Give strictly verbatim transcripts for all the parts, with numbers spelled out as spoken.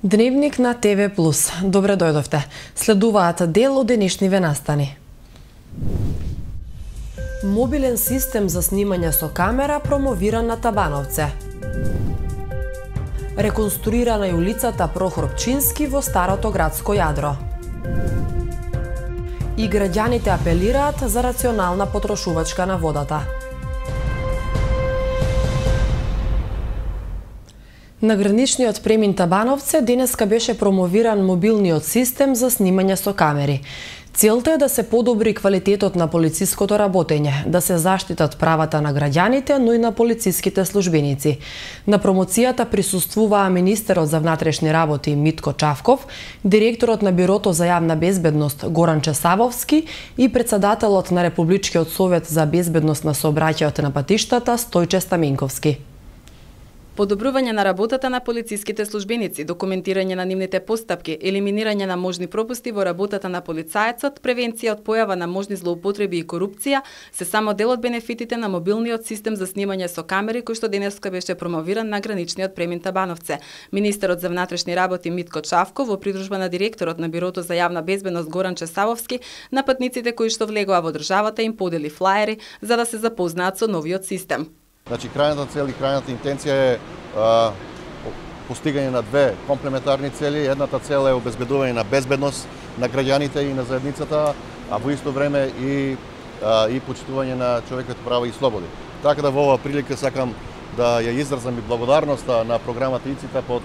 Дневник на ТВ Плюс. Добре дојдовте. Следуваат дел од денешниве настани. Мобилен систем за снимање со камера промовиран на Табановце. Реконструирана е улицата Прохор Пчински во старото градско јадро. И граѓаните апелираат за рационална потрошувачка на водата. На граничниот премин Табановце денеска беше промовиран мобилниот систем за снимање со камери. Целта е да се подобри квалитетот на полициското работење, да се заштитат правата на граѓаните, но и на полициските службеници. На промоцијата присуствуваа министерот за внатрешни работи Митко Чавков, директорот на Бирото за јавна безбедност Горан Чесавовски и претседателот на Републичкиот совет за безбедност на сообраќајот на патиштата Стојче Стаменковски. Подобрување на работата на полициските службеници, документирање на нивните постапки, елиминирање на можни пропусти во работата на полицаецот, превенција од појава на можни злоупотреби и корупција се само дел од бенефитите на мобилниот систем за снимање со камери кој што денеска беше промовиран на граничниот премин Табановце. Министерот за внатрешни работи Митко Чавков во придружба на директорот на Бирото за јавна безбедност Горан Чесавовски на патниците кои што влегоа во државата им подели флаери за да се запознаат со новиот систем. Значи, крајната цел и крајната интенција е а, постигање на две комплементарни цели. Едната цел е обезбедување на безбедност на граѓаните и на заедницата, а во исто време и, а, и почитување на човековите права и слободи. Така да во оваа прилика сакам да ја изразам и благодарноста на програмата ИЦИТА под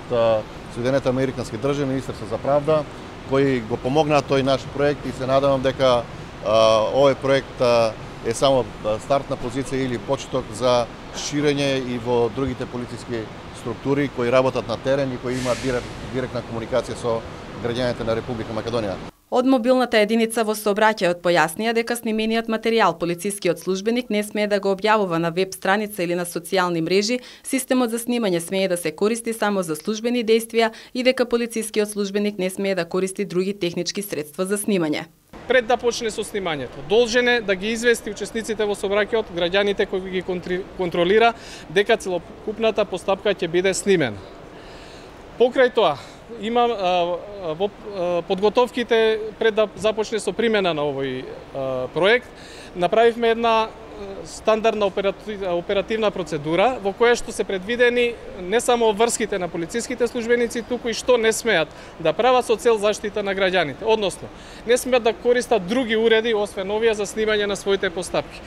Соединените американски држави, Министерство за правда, кои го помогнаа тој наш проект и се надевам дека а, овој проект а, е само стартна позиција или почеток за ширење и во другите полициски структури кои работат на терен и кои имаат директ, директна комуникација со граѓаните на Република Македонија. Од мобилната единица во сообраќајот појаснија дека снимениот материјал полицискиот службеник не смее да го објавува на веб страница или на социјални мрежи, системот за снимање смее да се користи само за службени дејствија и дека полицискиот службеник не смее да користи други технички средства за снимање. Пред да почне со снимањето, должен е да ги извести учесниците во сообраќајот, граѓаните кои ги контролира, дека целокупната постапка ќе биде снимена. Покрај тоа, има а, во а, подготовките пред да започне со примена на овој а, проект, направивме една стандардна оперативна процедура во која што се предвидени не само врските на полициските службеници, туку и што не смеат да прават со цел заштита на граѓаните. Односно, не смеат да користат други уреди освен овие за снимање на своите постапки.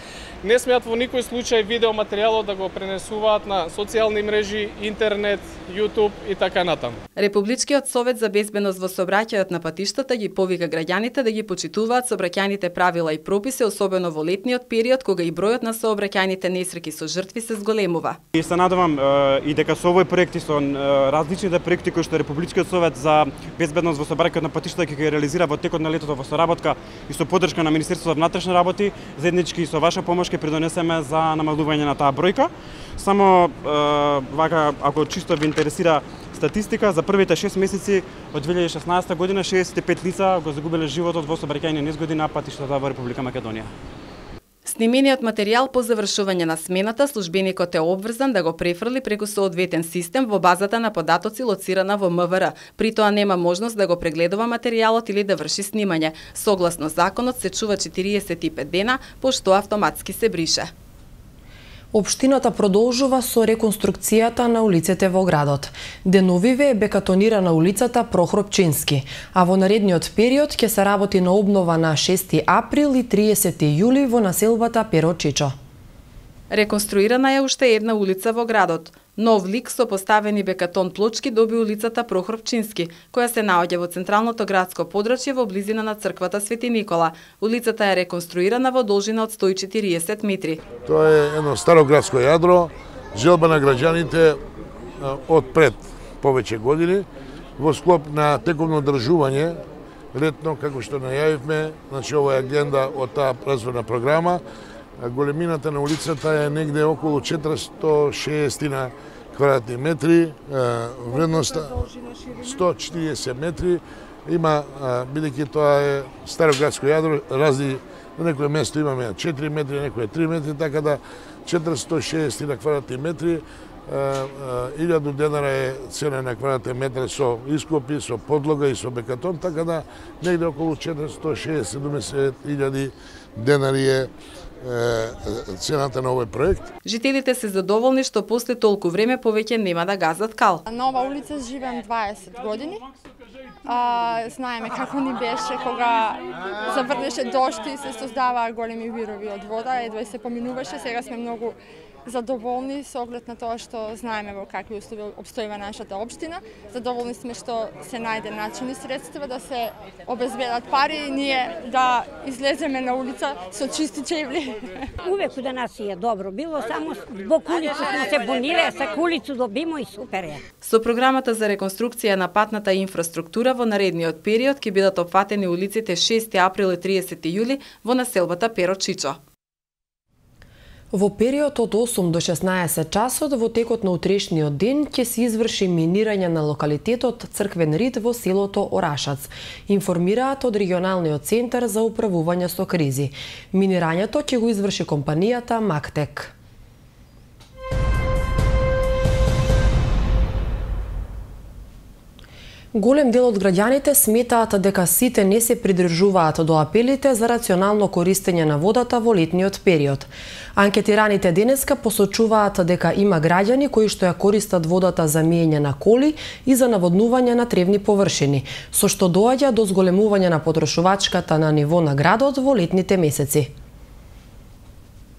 Не смеат во никој случај видеоматеријалот да го пренесуваат на социјални мрежи, интернет, YouTube и така натаму. Републичкиот совет за безбедност во сообраќајот на патиштата ги повика граѓаните да ги почитуваат сообраќајните правила и прописи, особено во летниот период кога и бројот на сообраќајните несреќи со жртви се зголемува. И се надевам и дека со овој проект и со различните проекти кои што Републичкиот совет за безбедност во сообраќајот на патиштата ќе ги реализира во текот на летото во соработка и со поддршка на Министерството за внатрешни работи, заеднички и со ваша помош ќе придонесеме за намалување на таа бројка. Само вака, ако чисто ви интересира статистика, за првите шест месеци од две илјади и шеснаесетта година шеесет и пет лица го загубиле животот во сообраќајни незгоди на патиштата во Република Македонија. Снимениот материјал по завршување на смената, службеникот е обврзан да го префрли преку соодветен систем во базата на податоци лоцирана во М В Р. При тоа нема можност да го прегледува материјалот или да врши снимање. Согласно законот се чува четириесет и пет дена, пошто автоматски се брише. Општината продолжува со реконструкцијата на улиците во градот. Деновиве е бекатонирана улицата Прохор Пчински, а во наредниот период ќе се работи на обнова на шести април и триесети јули во населбата Перо Чичо. Реконструирана е уште една улица во градот. Нов лик со поставени бекатон плочки доби улицата Прохор Пчински, која се наоѓа во централното градско подрачје во близина на црквата Свети Никола. Улицата е реконструирана во должина од сто и четириесет метри. Тоа е едно старо градско јадро, желба на граѓаните од пред повеќе години во склоп на тековно одржување летно, како што најавивме, значи ова е агенда од таа развојна програма. Големината на улицата е негде околу четиристо и шеесет квадратни метри, вредноста сто и четириесет метри. Има, бидејќи тоа е старо градско јадро, разни, на некој место имаме четири метри, некој три метри, така да четиристо и шеесет квадратни метри. илјаду денари е цена на квадратен метар со ископи, со подлога и со бекатон, така да негде околу четиристотини и шеесет до седумдесет илјади денари е цената на овој проект. Жителите се задоволни што после толку време повеќе нема да газат кал. На ова улица живеам дваесет години. А, знаеме како ни беше кога заврнеше дожд и се создаваа големи вирови од вода, едва се поминуваше. Сега сме многу задоволни со оглед на тоа што знаеме во какви услови обстојува нашата општина. Задоволни сме што се најде начин и средства да се обезбедат пари и ние да излеземе на улица со чисти чевли. Увек за нас е добро било, само због улицу сме се буниле, са улицу добимо и супер е. Со програмата за реконструкција на патната инфраструктура во наредниот период ќе бидат опфатени улиците шести април и триесети јули во населбата Перо Чичо. Во период од осум до шеснаесет часот во текот на утрешниот ден ќе се изврши минирање на локалитетот Црквен рид во селото Орашац, информираат од регионалниот центар за управување со кризи. Минирањето ќе го изврши компанијата Мактек. Голем дел од граѓаните сметаат дека сите не се придржуваат до апелите за рационално користење на водата во летниот период. Анкетираните денеска посочуваат дека има граѓани кои што ја користат водата за миење на коли и за наводнување на тревни површини, со што доаѓа до зголемување на потрошувачката на ниво на градот во летните месеци.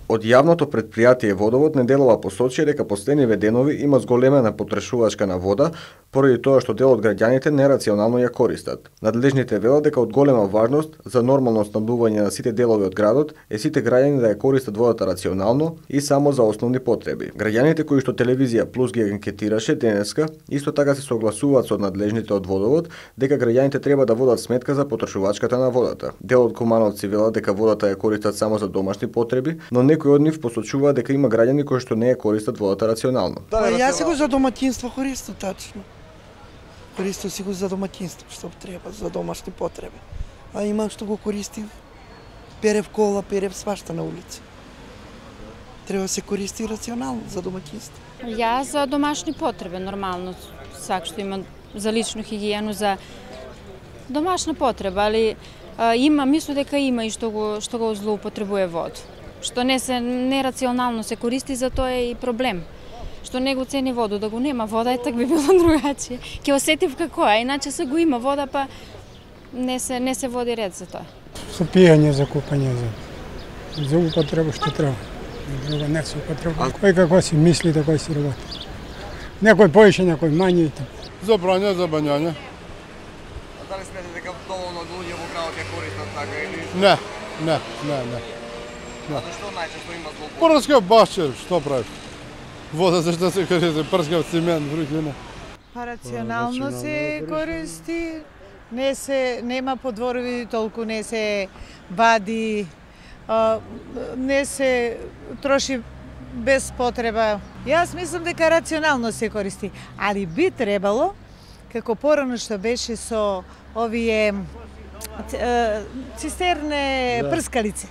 Од јавното предпријатие Водовод неделова посочи дека последниве денови има зголемена потрошувачка на вода, поради тоа што дел од граѓаните нерационално ја користат. Надлежните велат дека од голема важност за нормално снабдување на сите делови од градот е сите граѓани да ја користат водата рационално и само за основни потреби. Граѓаните кои што Телевизија Плюс ги анкетираше денеска, исто така се согласуваат со надлежните од Водовод дека граѓаните треба да водат сметка за потрошувачката на водата. Дел од кумановци велат дека водата ја користат само за домашни потреби, но некои од нив посочуваат дека има граѓани кои што не ја користат водата рационално. Па јас си го за домаќинство користам тачно. Користам си го за домаќинство, што треба, за домашни потреби. А има што го користи, перев кола, перев свашта на улица. Треба се користи рационално за домаќинство. Јас за домашни потреби, нормално, сак што има за личну хигиену, за домашна потреба, али а, има, мислам дека има и што го, што го злоупотребува вода. Што не се нерационално се користи, за тоа е и проблем. Што не го цени вода, да го нема вода, е так би било другачие. Ќе осетив како е, иначе се го има вода, па не се не се води ред за тоа. За пиење, за купање, за за употреба што треба. Друго не се употреба. Кој како си мисли, така си работи. Некој повеќе, некој мање и така. За прање, за бањање. А дали смете дека доволно луѓе во градот ја користат така или? Не, не, не, не. А зашто најчесто има злоупотреба? Прскав башче, што правиш? Вода зашто се користи, прскав цимент, врухина. Па рационално се користи, не се нема подворови толку, не се вади, а, не се троши без потреба. Јас мислам дека рационално се користи, али би требало, како порано што беше со овие цистерне прскалици,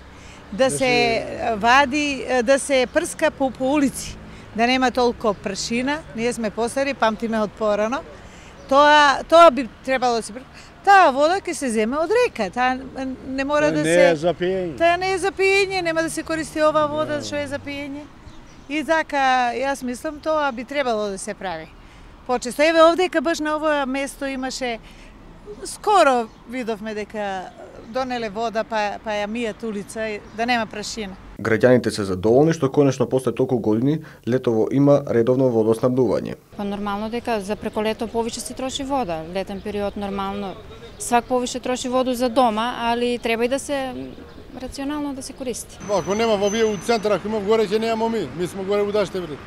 да се вади, да се прска по, по улици, да нема толку пршина. Ние сме постари, памтиме од порано. Тоа тоа би требало да се прска. Таа вода ќе се земе од река, таа не мора да се Не е за пиење. Таа не е за пиење, нема да се користи ова вода што е за пиење. И така, јас мислам тоа би требало да се прави. Почесто еве овдека баш на ова место имаше, скоро видовме дека донеле вода па, па ја мијат улица, да нема прашина. Граѓаните се задоволни што конечно после толку години летово има редовно водоснабдување. Па нормално дека за преко лето повеќе се троши вода. Летен период нормално свак повеќе троши воду за дома, али треба и да се рационално да се користи. Ако нема во вие у центар, ако има горе ќе немаме ми. Ми сме горе у даште вред.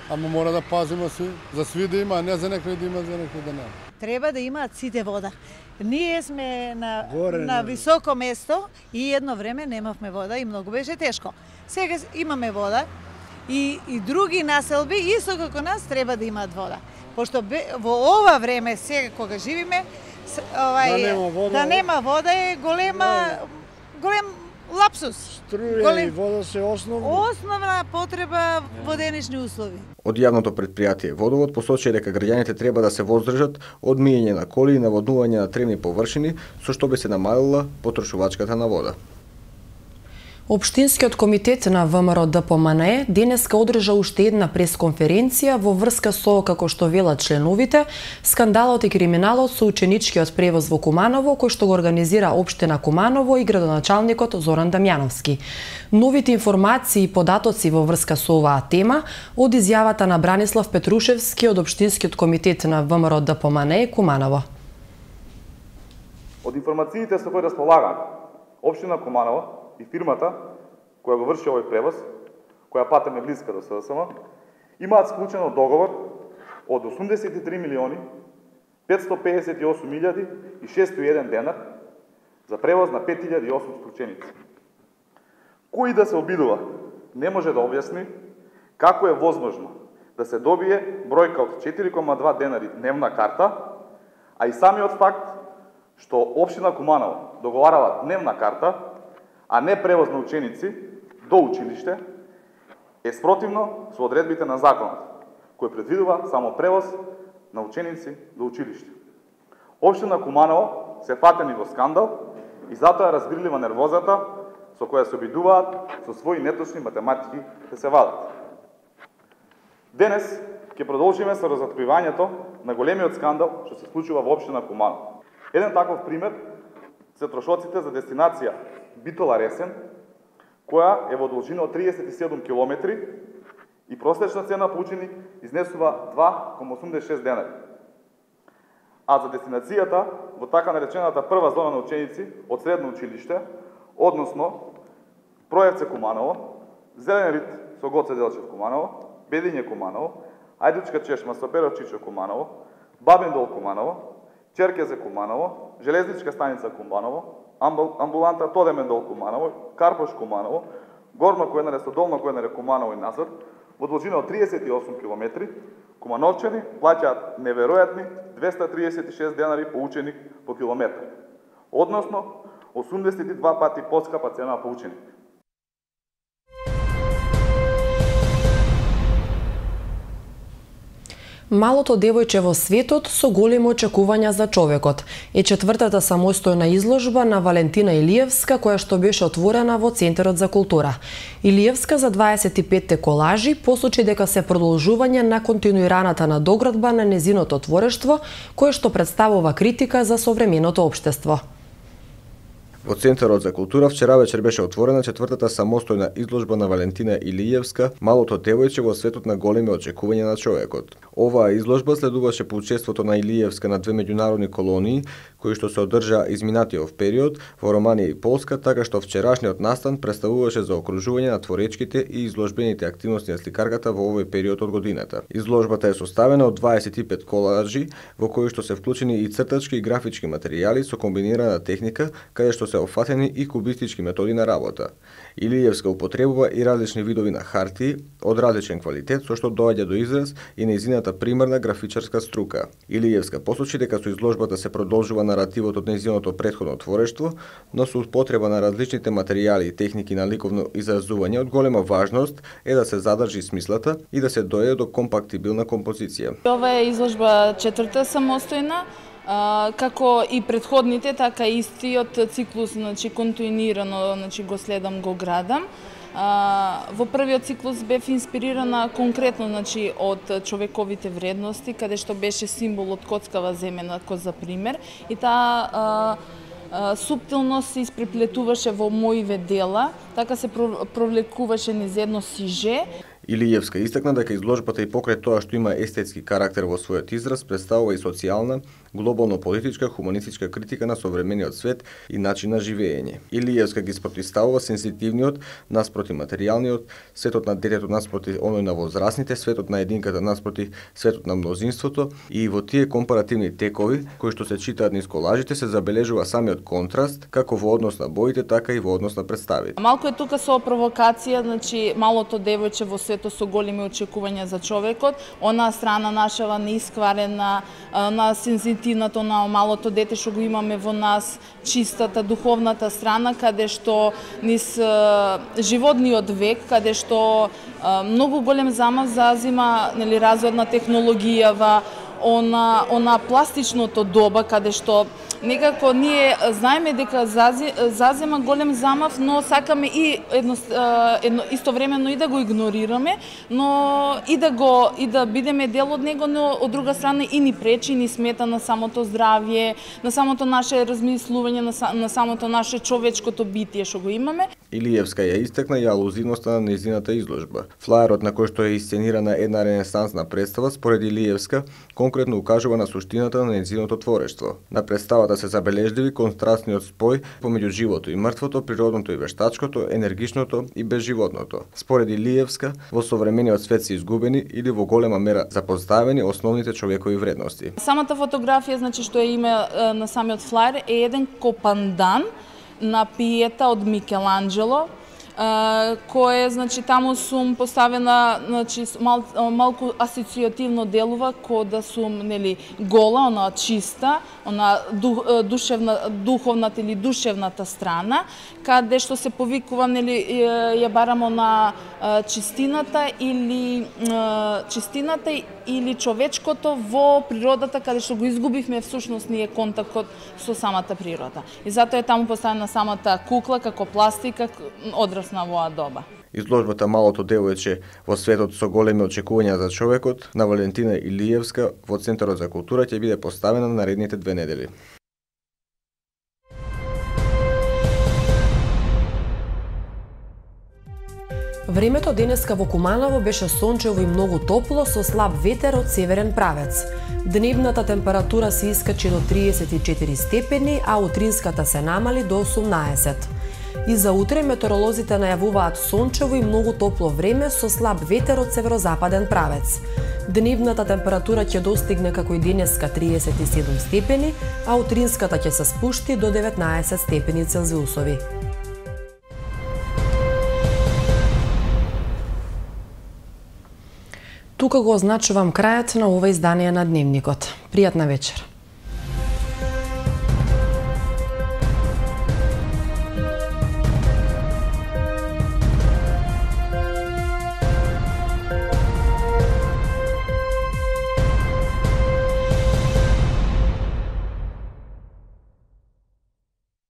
Ама мора да пазиме сви, за сви да има, а не за некој да има, за некој да нема. Треба да имаат сите вода. Ние сме на, на високо место и едно време немавме вода и многу беше тешко. Сега имаме вода и, и други населби, исто како нас, треба да имаат вода. Пошто бе, во ова време, сега кога живиме, овај, да нема вода, да нема вода е голема, голем лапсус. Струја Голем... и вода се основни. Основна потреба во денешни услови. Од јавното претпријатие Водовод посочи дека граѓаните треба да се воздржат од миење на коли и наводнување на тревни површини, со што би се намалила потрошувачката на вода. Општинскиот комитет на ВМРО Д П М Н Е денеска одржа уште една пресконференција во врска со, како што велат членовите, скандалот и криминалот со ученичкиот превоз во Куманово, кој што го организира општина Куманово и градоначалникот Зоран Дамјановски. Новите информации и податоци во врска со оваа тема од изјавата на Бранислав Петрушевски од Општинскиот комитет на ВМРО Д П М Н Е Куманово. Од информациите со кои располагам, општина Куманово и фирмата која го врши овој превоз, која патем е блиска до С С М, имаат склучено договор од осумдесет и три милиони петстотини педесет и осум илјади и шестоста и еден денар за превоз на пет илјади и осумстотини ученици. Кој да се обидува не може да објасни како е возможно да се добие бројка од четири кома два денари дневна карта, а и самиот факт што општина Куманово договарала дневна карта, а не превоз на ученици до училиште, е спротивно со одредбите на законот, кој предвидува само превоз на ученици до училиште. Општина Куманово се фатени во скандал и затоа е разбирлива нервозата со која се обидуваат со своји неточни математики да се вадат. Денес ќе продолжиме со разоткривањето на големиот скандал што се случува во општина Куманово. Еден таков пример се трошоците за дестинација Битола-Ресен, која е во должина од триесет и седум километри и просечна цена по ученик изнесува два кома осумдесет и шест денари. А за дестинацијата во така наречената прва зона на ученици од средно училиште, односно Проевце Куманово, Зелен рид со Гоце Делчев Куманово, Бедиње Куманово, Ајдучка чешма со Перов Чичо Куманово, Бабин дол Куманово, Черкезе Куманово, Железничка станица Куманово, амбуланта Тодемен дол Куманово, Карпош Куманово, Горно Којнаре со Долно Којнаре Куманово и назад, во должина од триесет и осум километри, кумановчани плаќаат неверојатни двеста триесет и шест денари по ученик по километар, односно осумдесет и два пати поскапа цена по ученик. Малото девојче во светот со големи очекувања за човекот е четвртата самостојна изложба на Валентина Илиевска, која што беше отворена во Центарот за култура. Илиевска за дваесет и петте колажи посочи дека се продолжување на континуираната надоградба на незиното творештво, кое што представува критика за современото општество. Во Центарот за култура вчера вечер беше отворена четвртата самостојна изложба на Валентина Илиевска, Малото девојче во светот на големи очекувања на човекот. Оваа изложба следуваше по учеството на Илиевска на две меѓународни колонии, кои што се одржаа изминатиот период во Романија и Полска, така што вчерашниот настан представуваше заокружување на творечките и изложбените активности на сликарката во овој период од годината. Изложбата е составена од дваесет и пет колажи, во кои што се вклучени и цртачки и графички материјали со комбинирана техника, каде што се офатени и кубистички методи на работа. Илиевска употребува и различни видови на хартии од различен квалитет, со што доаѓа до израз и нејзината примарна графичарска струка. Илиевска посочи дека со изложбата се продолжува наративот од нејзиното претходно творештво, но со употреба на различните материјали и техники на ликовно изразување од голема важност е да се задржи смислата и да се дојде до компактибилна композиција. Ова е изложба четврта самостојна, како и претходните, така и истиот циклус, значи континуирано, значи го следам, го градам. Во првиот циклус бев инспирирана конкретно, значи од човековите вредности, каде што беше символ од коцкава земена, за пример, и таа суптилност се испреплетуваше во моиве дела, така се провлекуваше низ едно сиже. Илиевска истакна дека изложбата и покрај тоа што има естетски карактер во својот израз, представува и социјална, глобално политичка, хуманистичка критика на современиот свет и начин на живење. Илиевска ги спротивставува сензитивниот наспроти материјалниот, светот на детето наспроти оној на возрастните, светот на единката наспроти светот на мнозинството, и во тие компаративни текови кои што се читаат низ колажите се забележува самиот контраст како во однос на боите, така и во однос на представите. Малку е тука со провокација, значи малото девојче во светот со големи очекувања за човекот, онаа страна нашава неискварена, на сензитивното, на малото дете што го имаме во нас, чистата духовната страна, каде што низ животниот век, каде што многу голем замав зазима, нели, развојот на технологијава, она она пластичното доба, каде што некако ние знаеме дека зази, зазема голем замав, но сакаме и едно, едно истовремено и да го игнорираме, но и да го и да бидеме дел од него, но од друга страна и ни пречи, ни смета на самото здравје, на самото наше размислување, на, на самото наше човечкото битие што го имаме. Илиевска ја истакна и алузивноста на нејзината изложба. Флаерот на кој што еисценирана една ренесансна представа, според Илиевска, конкретно укажува на суштината на нејзиното творештво. На представата се забележливи контрастниот спој помеѓу живото и мртвото, природното и вештачкото, енергичното и безживотното. Според Илиевска, во современиот свет се изгубени или во голема мера запоставени основните човекови вредности. Самата фотографија, значи, што е име на самиот флаер, е еден копандан на пиета од Микеланджело, кое, значи, таму сум поставена, значи, мал, малку асоциативно делува ко да сум, нели, гола, она чиста, она дух, душевна, духовната или душевната страна, каде што се повикува, нели, ја барамо на чистината или чистината или човечкото во природата, каде што го изгубивме всушност ние контактот со самата природа. И затоа е таму поставена самата кукла како пластика, одрасна во оваа доба. Изложбата Малото девојче во светот со големи очекувања за човекот на Валентина Илиевска во Центарот за култура ќе биде поставена на наредните две недели. Времето денеска во Куманово беше сончево и многу топло со слаб ветер од северен правец. Дневната температура се искачи до триесет и четири степени, а утринската се намали до осумнаесет. И за утре метеоролозите најавуваат сончево и многу топло време со слаб ветер од северозападен правец. Дневната температура ќе достигне како и денеска триесет и седум степени, а утринската ќе се спушти до деветнаесет степени Целзиусови. Тука го означувам крајот на ова издание на Дневникот. Пријатна вечер.